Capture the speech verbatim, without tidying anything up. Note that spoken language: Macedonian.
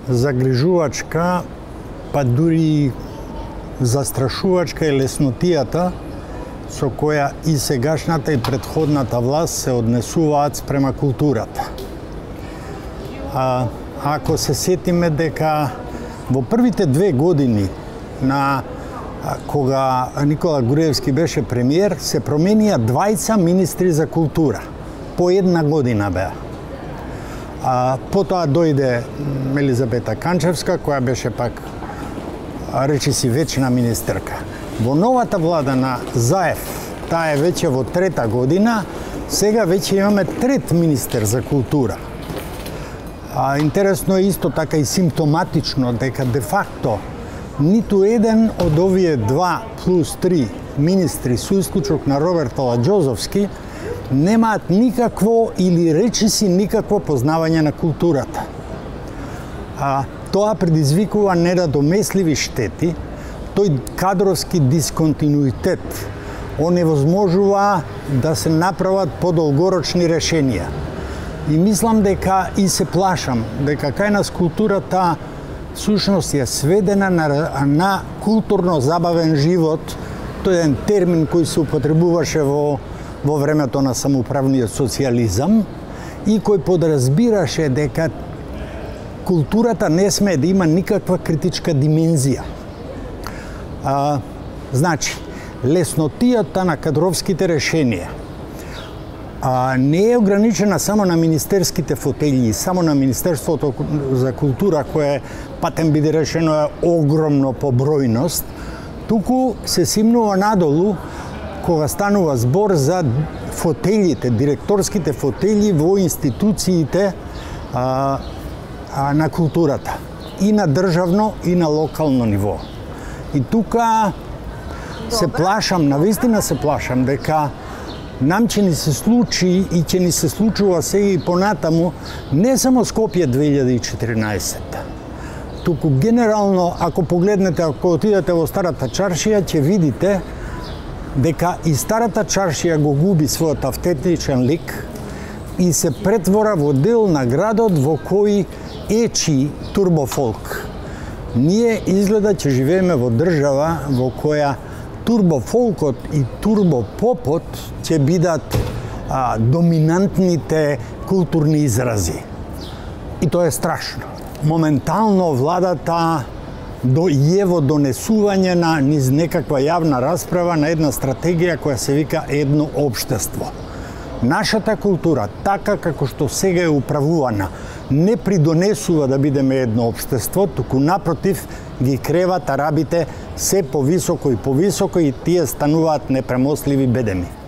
загрижувачка, па дури застрашувачка е леснотијата со која и сегашната и претходната власт се однесуваат спрема културата. А, ако се сетиме дека во првите две години на кога Никола Груевски беше премиер, се променија двајца министри за култура. По една година беа. А, потоа дојде Елизабета Канчевска, која беше пак, речиси, вечна министерка. Во новата влада на Заев, таа е веќе во трета година, сега веќе имаме трет министер за култура. А, интересно е исто така и симптоматично дека де факто ниту еден од овие два плюс три министри, со исклучок на Роберт Аладжозовски, немаат никакво или речиси никакво познавање на културата. А, тоа предизвикува недодомесливи штети, тој кадровски дисконтинуитет оневозможува да се направат подолгорочни решенија. И мислам дека и се плашам дека кај нас културата сушност е сведена на, на културно-забавен живот. Тој е еден термин кој се употребуваше во, во времето на самоуправниот социјализам и кој подразбираше дека културата не смее да има никаква критичка димензија. А, значи, леснотијата на кадровските решенија а, не е ограничена само на министерските фотелји, само на Министерството за култура, кое патем биде решено е огромно по бројност, туку се симнува надолу кога станува збор за фотелите, директорските фотели во институциите а, а, на културата, и на државно и на локално ниво. И тука се плашам, навистина се плашам дека нам ќе ни се случи и ќе ни се случува сега и понатаму не само Скопје две илјади и четиринаесетта. Туку генерално, ако погледнете, ако отидете во Старата чаршија, ќе видите дека и Старата чаршија го губи својот автентичен лик и се претвора во дел на градот во кој ечи турбофолк. Ние изгледа ќе живееме во држава во која турбофолкот и турбопопот ќе бидат а, доминантните културни изрази. И тоа е страшно. Моментално владата до е во донесување на низ некаква јавна расправа на една стратегија која се вика едно општество. Нашата култура, така како што сега е управувана, не придонесува да бидеме едно општество, туку напротив ги креват арабите се повисоко и повисоко и тие стануваат непремостливи бедеми.